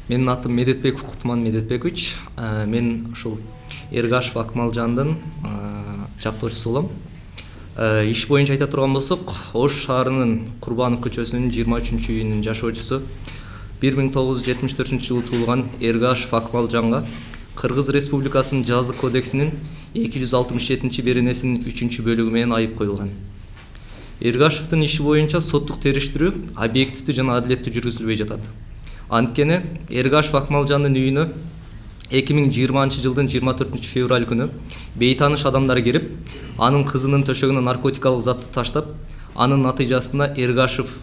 Менин атым Медетбеков Кутман Медетбекович. Мен ушул Эргашев Акмалжандын жактоочусу болом. Иш боюнча айта турган болсок, Ош шаарынын Курбанов көчөсүнүн 23-үйүнүн жашоочусу 1974-жылы туулган Эргашев Акмалжанга Кыргыз Республикасынын Жазык кодексинин 267-беренесинин 3-бөлүгү менен айып коюлган. Эргашевдин иши боюнча соттук териштирүү объективдүү жана адилеттүү жүргүзүлбөй жатат. Анткени Эргашев Акмалжандын үйүнө 2020-жылдын 24-февраль күнү бейтааныш адамдар кирип, анын кызынын төшөгүнө наркотикалык затты таштап, анын натыйжасында Эргашев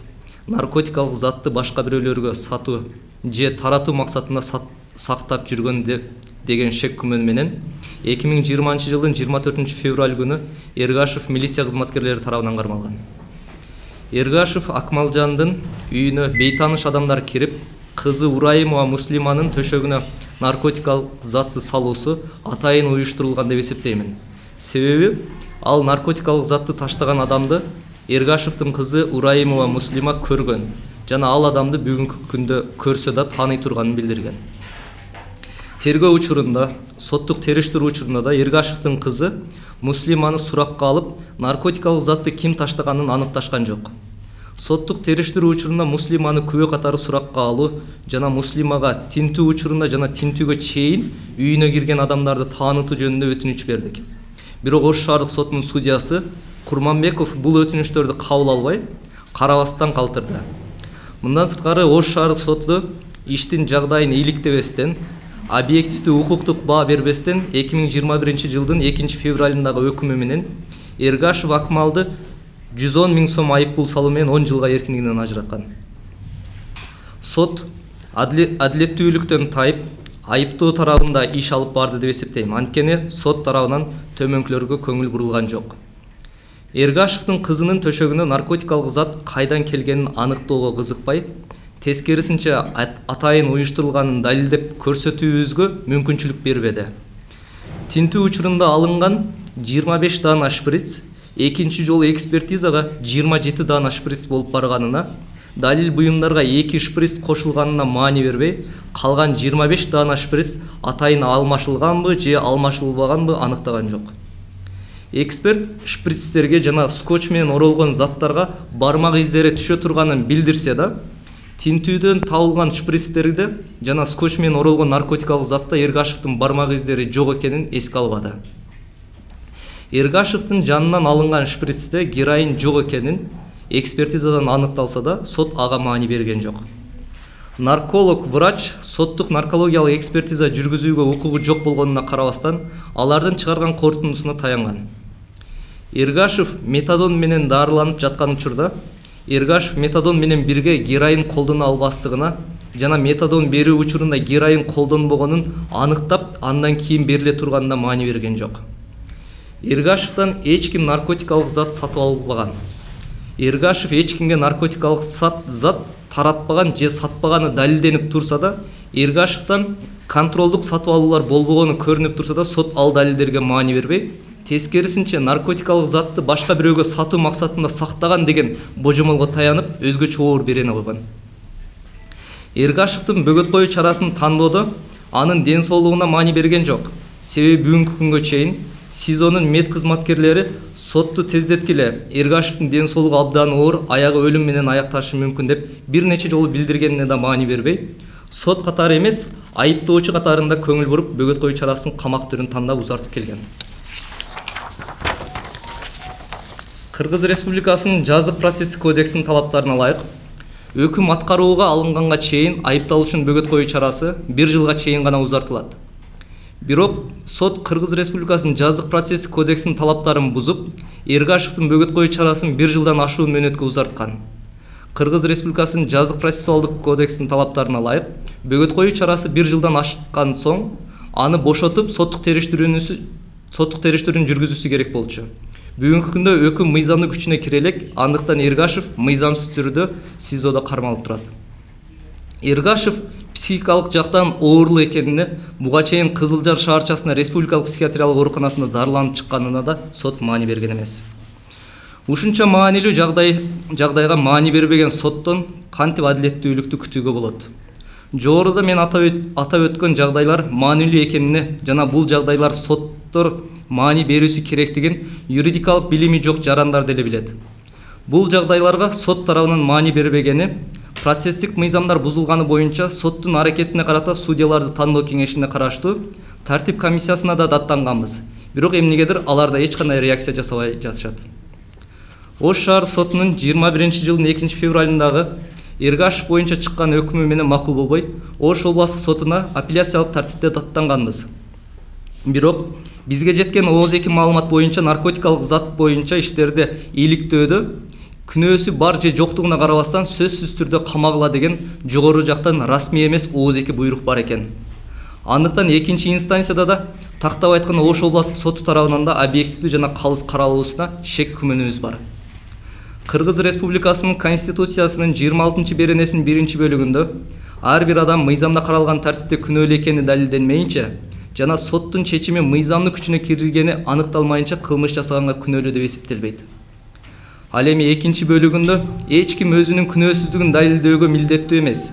наркотикалык затты башка бирөөлөргө сатуу же таратуу максатында сактап жүргөн деген шек күмөн менен 2020-жылдын 24-февраль күнү Эргашев милиция кызматкерлери тарабынан кармалган. Эргашев Акмалжандын үйүнө бейтааныш адамдар кирип, кызы Урайымова Муслиманын төшөгүнө наркотикалык затты салуусу атайын уюштурулган деп эсептеймин. Себеби ал наркотикалык затты таштаган адамды Эргашевдин кызы Урайымова Муслима көргөн жана ал адамды бүгүнкү күндө көрсө да тааный турганын билдирген. Тергөө учурунда, соттук териштирүү учурунда да Эргашевдин кызы Муслиманы суракка алып, наркотикалык затты ким таштаганын аныкташкан жок. Соттук териштирүү учурунда Муслиманы күбө катары суракка алуу жана Муслимага тинтүү учурунда жана тинтүүгө чейин үйүнө кирген адамдарды таанытуу жөнүндө өтүнүч бердик. Бирок Ош шаардык сотунун судьясы Курманбеков бул өтүнүчтөрдү кабыл албай, карабастан калтырды. Мындан сырткары Ош шаардык соту иштин жагдайын иликтебестен, объективдүү укуктук баа бербестен 2021-жылдын 2-февралындагы өкүмү менен Эргашев Акмалды 110 000 сом айыппул салуу менен 10 жылга эркиндигинен ажыраткан. Сот адилеттүүлүктөн тайып, айыптоо тарабында иш алып барды деп эсептейм. Анткени сот тарабынан төмөнкүлөргө көңүл бурулган жок. Эргашевдин кызынын төшөгүнө наркотикалык зат кайдан келгенин аныктоого кызыкпай, тескерисинче атайын уюштурулганын далилдеп көрсөтүүбүзгө мүмкүнчүлүк бербеди. Тинтүү учурунда алынган 25 даана шприц экинчи жолу экспертизага 27 даана шприц болуп барганына, далил буюмдарга 2 шприц кошулганына маани бербей, калган 25 даана шприц атайын алмашылганбы же алмашылбаганбы аныктаган жок. Эксперт шприцтерге жана скотч менен оролгон заттарга бармак издери түшө турганын билдирсе да, тинтүүдөн табылган шприцтерде жана скотч менен оролгон наркотикалык затта Эргашевдин бармак издери жок экенин эске албады. Эргашевдин жанынан алынган шприцте героин жок экенин экспертизадан аныкталса да, сот ага маани берген жок. Нарколог врач соттук наркологиялык экспертиза жүргүзүүгө укугу жок болгонуна карабастан, алардын чыгарган корутундусуна таянган. Эргашев метадон менен дарыланып жаткан учурда Эргашев метадон менен бирге героин колдоно албастыгына жана метадон берүү учурунда героин колдонбогонун аныктап, андан кийин бериле турганына маани берген жок. Эргашевден эч ким наркотикалык зат сатып албаган. Эргашев эч кимге наркотикалык зат таратпаган же сатпаганы далилденип турса да, Эргашевден контролдук сатып алуулар болбогону көрүнүп турса да, сот ал далилдерге маани бербей, тескерисинче наркотикалык затты башка бирөөгө сатуу максатында сактаган деген божомолго таянып, өзгөчө оор берене койгон. Эргашевдин бөгөт коюу чарасын тандоодо анын ден соолугуна маани берген жок. Себеби бүгүнкү күнгө чейин СИЗОнун мед кызматкерлери сотту тездеткиле Эргашевдин ден соолугу абдан оор, аягы өлүм менен аякташы мүмкүн деп бир нече жолу билдиргенине да маани бербей, сот катары эмес, айыптоочу катарында көңүл буруп, бөгөт коюу чарасын камак түрүн тандап узартып келген. Кыргыз Республикасынын Жазык процесстик кодексинин талаптарына ылайык, өкүм аткарууга алынганга чейин айыпталуучунун бөгөт коюу чарасы 1 жылга чейин гана узартылат. Бирок сот Кыргыз Республикасынын Жазык процесстик кодексинин талаптарын бузуп, Эргашевдин бөгөт коюу чарасын 1 жылдан ашуун мөөнөткө узарткан. Кыргыз Республикасынын Жазык процессуалдык кодексинин талаптарына ылайык, бөгөт коюу чарасы 1 жылдан ашкан соң, аны бошотуп, соттук териштирүүнү жүргүзүүсү керек болчу. Бүгүнкү күндө өкүм мыйзамдуу күчүнө кире элек, андыктан Эргашев мыйзамсыз түрдө СИЗОдо кармалып турат. Эргашев психикалык жактан оорлуу экенине, буга чейин Кызылжар шаарчасына республикалык психиатриялык ооруканасында дарыланып чыкканына да сот маани берген эмес. Ушунча маанилүү жагдайга маани бербеген соттон кантип адилеттүүлүктү күтүүгө болот? Жогоруда мен атап өткөн жагдайлар маанилүү экенине жана бул жагдайлар соттор маани берүүсү керектигин юридикалык билими жок жарандар деле билет. Бул жагдайларга сот тарабынан маани бербегени, процесстик мыйзамдар бузулганы боюнча соттун аракетине карата судьяларды тандоо кеңешине караштуу тартип комиссиясына да даттанганбыз. Бирок эмнегедир алар да эч кандай реакция жасабай жатышат. Ош шаар сотунун 21-жылдын 2-февралындагы Эргашев боюнча чыккан өкмү менен макул болбой, Ош областык сотуна апелляциялык тартипте даттанганбыз. Бирок бизге жеткен ооз-эки маалымат боюнча наркотикалык зат боюнча иштерде иликтөөдө күнөөсү бар же жоктугуна карабастан сөзсүз түрдө камагыла деген жогору жактан расмий эмес ооз-эки буйрук бар экен. Андыктан экинчи инстанцияда да тактап айтканда Ош областык соту тарабынан да объективдүү жана калыс каралуусуна шек күмөнүбүз бар. Кыргыз Республикасынын Конституциясынын 26 беренесинин 1-бөлүгүндө ар бир адам мыйзамда каралган тартипте күнөөлүү экени далилденмейинче жана соттун чечими мыйзамдын күчүнө киргени аныкталмайынча кылмыш жасаганга күнөөлүү деп эсептелбейт. Ал эми 2-бөлүгүндө эч ким өзүнүн күнөөсүздүгүн далилдөөгө милдеттүү эмес.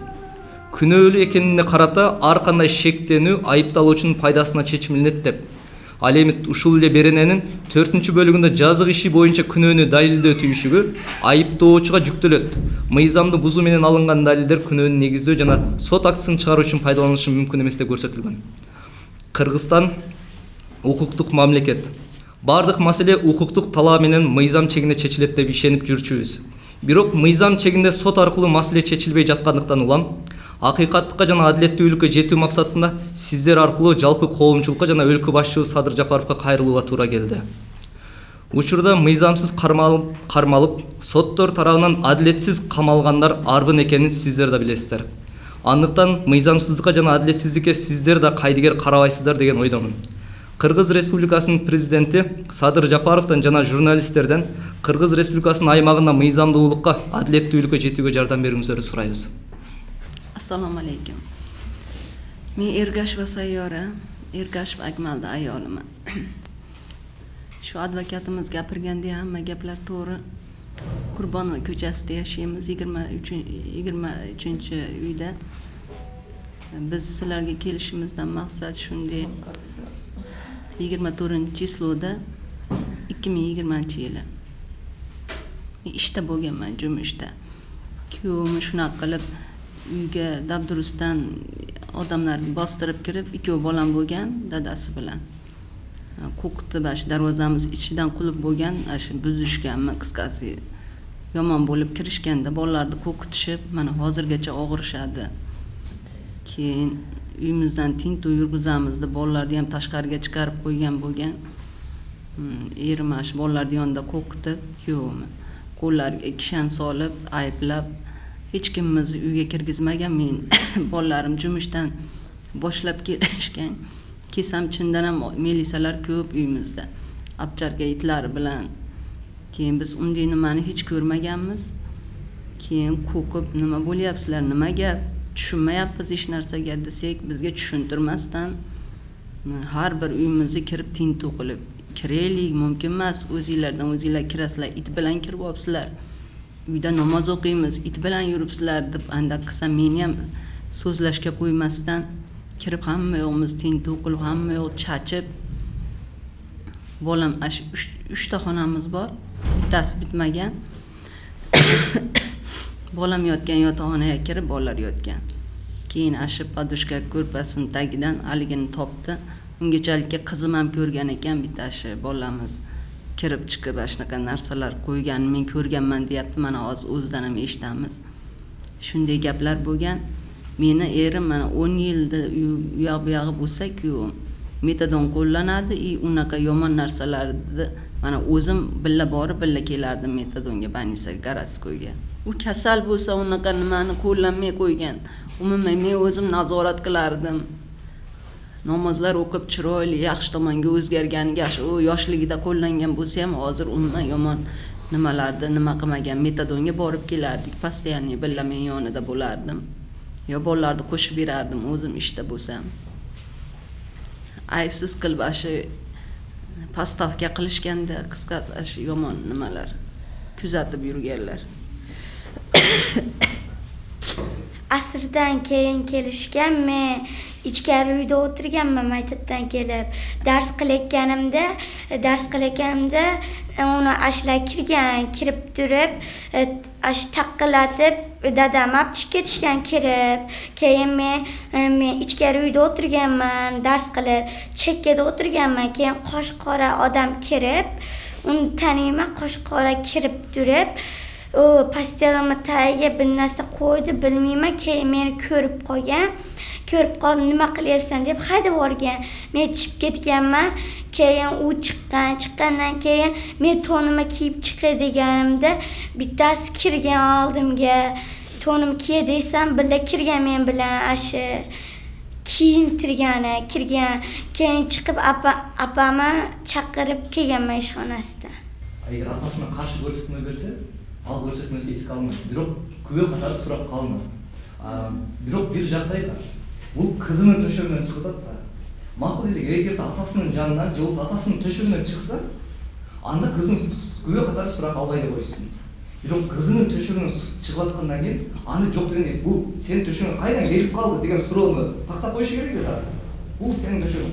Күнөөлүү экенине карата ар кандай шектенүү айыпталуучунун пайдасына чечимленет деп. Ал эми ушул эле берененин 4-бөлүгүндө жазык иши боюнча күнөөнү далилдөө түйүшүгү айыптоочуга жүктөлөт. Мыйзамды бузуу менен алынган далилдер күнөөнү негиздөө жана сот актысын чыгаруу үчүн пайдаланышы мүмкүн эмес деп көрсөтүлгөн. Кыргызстан укуктук мамлекет. Бардык маселе укуктук талаа менен мыйзам чегинде чечилет деп ишенип жүрчүбүз. Бирок мыйзам чегинде сот аркылуу маселе чечилбей жаткандыктан улам акыйкаттыкка жана адилеттүүлүккө жетүү максатында сиздер аркылуу жалпы коомчулукка жана өлкө башчыбыз Садыр Жапаровго кайрылууга туура келди. Учурда мыйзамсыз кармалып, соттор тарабынан адилетсиз камалгандар арбын экенин сиздер да билесиздер. Андыктан мыйзамсыздыкка жана адилетсиздикке сиздер да кайдыгер карабайсыздар деген ойдомун. Кыргыз Республикасынын президенти Садыр Жапаровдон жана журналисттерден Кыргыз Республикасынын аймагында мыйзамдуулукка, адилеттүүлүккө жетүүгө жардам берүүңүздөрдү сурайбыз. Assalomu alaykum. Men Ergasheva Sayyora, Ergashev Akmalda ayoliman. Shu advokatimiz gapirganda hamma gaplar to'g'ri. Qurbonova ko'chasida yashaymiz, 23-uyda. Biz sizlarga kelishimizdan maqsad shunday. 24-chysloda 2020-yili. Ishda bo'lganman, jumishda. Kuyovim shunaqa qilib uyga dabdurustdan odamlarni bostirib kirib, ikkov bolam bo'lgan, dadasi bilan. Qo'qitdi, bash darvozamiz ichidan qulib bo'lgan, shu buzishganmi, qisqasi yomon bo'lib kirishganda bolalarni qo'qitishib, mana hozirgacha og'rishadi. Keyin uyimizdan tintuv yurgizamiz deb bolalarni ham tashqariga chiqarib qo'ygan bo'lgan. Erim shu bolalarni yonida qo'qitib, kuyovim qo'llariga kishan solib, ayblab, hech kimimizni uyga kirgizmagan. Men bolalarim jumishdan boshlab kelishgan. Kesam chindan ham milisalar ko'p uyimizda. Abcharga itlari bilan. Keyin biz unday nimani hech ko'rmaganmiz. Keyin qo'qib, nima bo'lyapsizlar, nima gap? Tushunmayapmiz hech narsaga desak, bizga tushuntirmasdan har bir uyimizga kirib tintuv qilib, kiraylik, mumkin emas, o'zingizlardan o'zingizlar kirasizlar, it bilan kirib olibsizlar. Uyda namoz o'qiymiz, it bilan yuribsizlar deb andaq qilsa, meni ham so'zlashga qo'ymasdan kirib hamma yo'qimiz tintuv qilib, hamma yo'q chachib. Bolam 3 ta xonamiz bor, bittasi bitmagan. Bolam yotgan yotoqxonaga kirib, bolalar yotgan. Keyin ashib podushka ko'rpasining tagidan aligini topdi. Ungachalikka qizim ham ko'rgan ekan, bittashi bolamiz kirib chiqib shunaqa narsalar qo'ygan, men ko'rganman deyapti. Mana hozir o'zidan ham eshitamiz. Shunday gaplar bo'lgan. Meni erim mana 10 yilda uyoq bu yog'i bo'lsa-ku, metadon qo'llanadi, unaqa yomon narsalarni mana o'zim billa borib, billa kelardim metadonga, banisa Garatskoyga. U kasal bo'lsa, unaqa nimani qo'llanmay qo'ygan. Umuman men o'zim nazorat qilardim. Namozlar o'qib chiroyli, yaxshi tomonga o'zgarganiga, u yoshligida qo'llangan bo'lsa ham hozir umuman yomon nimalarda nima qilmagan. Metadonga borib kelardik, постоянно billa men yonida bo'lardim. Yo bolalarni qo'shib berardim o'zim ishda bo'lsam. Ayibsiz qilib shu pastavka qilishganda qisqasi shu yomon nimalar kuzatib yurganlar. asrdan keyin kelishgan. Men ichkari uyda o'tirganman maktabdan kelib. Dars qilayotganimda uni ashlar kirib turib, taqqilatib dadam olib chiqib ketishgan kirib. Keyin men ichkari uyda o'tirganman, dars qilib, chekkada o'tirganman. Keyin qosh qora odam kirib, uni taniyman, qosh qora kirib turib, u pastelimni tagiga bir narsa qo'ydi, bilmayman. Keyin meni ko'rib qolib, nima qilyapsan deb haydab yuborgan. Men chiqib ketganman. Keyin u chiqqandan keyin men tonimni kiyib chiqay deganimda bittasi kirgan oldimga. Tonim kiy desam, birga kirgan men bilan kirgan. Keyin chiqib apamni chaqirib kelganman ishxonasidan. Agar atasini qarshi ko'rsatma bersa, al ko'rsatmasi esga almaydi. Biroq күбө катары сурап калмады. Бирок бир жагдайда бул кызынын төшөгүнөн чыгып атат да. Макул эле, эгерде атасынын жанынан же болбосо атасынын төшөгүнөн чыкса, анда кызын күбө катары сурап албай эле койсун. Бирок кызынын төшөгүнөн чыгып аткандан кийин аны жок дегенде бул сенин төшөгүң кайдан келип калды деген суроону тактап коюш керек эле да. Бул сенин төшөгүң.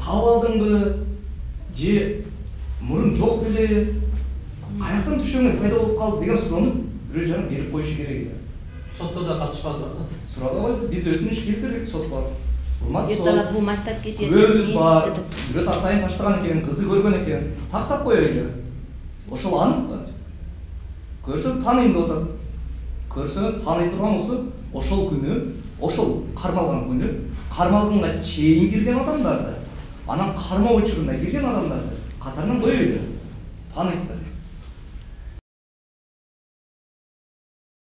Таап алдыңбы же мурун жок беле? Каяктан төшөгүң пайда болуп калды деген суроону бирөө жагынан берип коюш керек эле. Сотто да катышпадыбы? Сурап койду. Биз өтүнүш келтирдик сотко. Эртелеп бул мактапка кетет. Көбүбүз бар. Бирөө тактайын таштаган экен, кызы көргөн экен. Тактап коелу. Ошол аныкпы? Көрсө тааныйм деп атат. Көрсө тааный турган болсо, ошол күнү, ошол кармалган күнү, кармалганга чейин кирген адамдарды, анан кармоо учурунда кирген адамдарды катарынан коелу. Тааныйт да.